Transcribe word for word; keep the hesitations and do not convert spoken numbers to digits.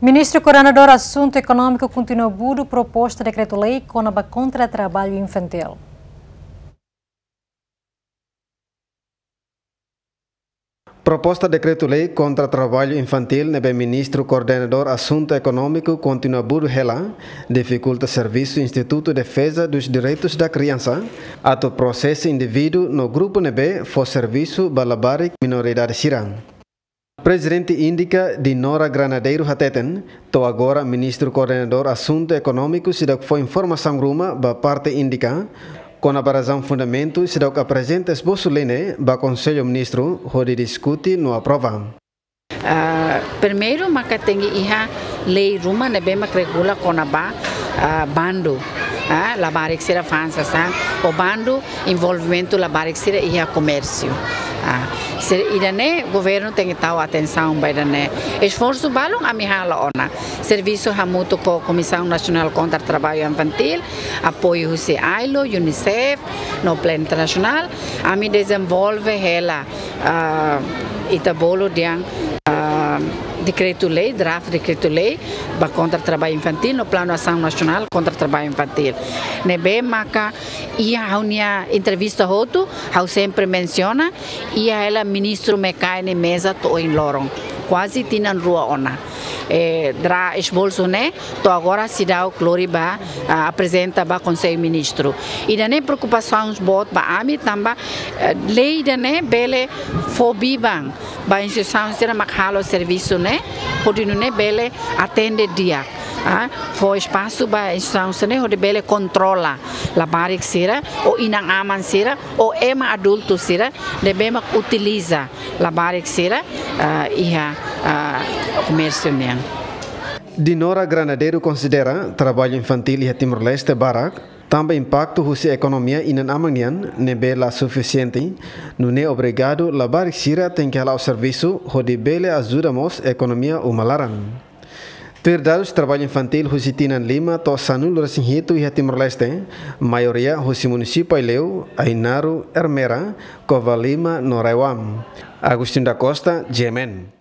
Ministru Koordenadór Asuntu Ekonómiku kontinua budu proposta dekretu-lei kona-ba kontra traballu infantíl. Proposta dekretu-lei kontra traballu infantíl ne'ebé Ministru Koordenadór Asuntu Ekonómiku kontinua budu hela, difikulta servisu Institutu Defeza dos Direitos da Criança atu prosesa indivíduu no grupu ne'ebé fó servisu ba labarik minoridade sira. Prezidente INDICA Dinora Granadeiro hateten, to'o agora Ministru Koordenadór Asuntu Ekonómiku seidauk fó informasaun ruma ba parte INDICA kona-ba razaun fundamentu seidauk aprezenta esbosu lei ne'e ba Konsellu Ministru hodi diskute no aprova. Ah, primeiru maka tenke iha lei ruma ne'ebé mak regula kona-ba, ah, bandu, ah, labarik sira fa'an sasán, ou bandu envolvimentu labarik sira iha komérsiu. Ah, se ida-ne'e governu tenke tau atensaun ba ida-ne'e. Esforsu balun ami halo ona. Servisu hamutuk ho Komisaun Nasionál Kontra Traballu Infantíl, apoiu husi ailo, UNICEF, no Planu Internasionál, ami dezenvolve hela, ah, ita bolu dehan, ah, dekretu-lei, draft dekretu-lei ba kontra traballu infantíl no Planu Asaun Nasionál kontra Traballu Infantíl. Ne'ebé maka iha ha'u-nia entrevista hotu, ha'u sempre mensiona, iha hela ministru mak kaer nia meza to'o ohin loron. Kuaze tinan rua ona. Eh, draft esbosu ne'e, to'o agora seidauk lori ba, ah, aprezenta ba Konsellu Ministru. Ida-ne'e preokupasaun boot ba ami tanba, eh, lei ida-ne'e bele fó biban ba instituisaun sira mak halo servisu ne'e, hodi nune'e bele atende di'ak. Ah, fó espasu ba instituisaun sira-ne'e hodi bele kontrola labarik sira, ou inan-aman sira, ou ema adultu sira, ne'ebé mak utiliza labarik sira, ah, iha, ah, komérsiu nian. Dinora Granadeiro konsidera traballu infantíl iha Timor-Leste barak, tanba impaktu husi ekonomia inan-aman nian ne'ebé la sufisiente, nune'e obrigadu labarik sira tenke hala'o servisu hodi bele ajuda mós ekonomia uma laran. Tuir dadus traballu infantíl husi tinan lima to'o sanulu-resin-hitu iha Timor-Leste, maioria husi munisípiu Aileu, Ainaro, Ermera, Covalima no RAEOA. Agostinho da Costa, GMN.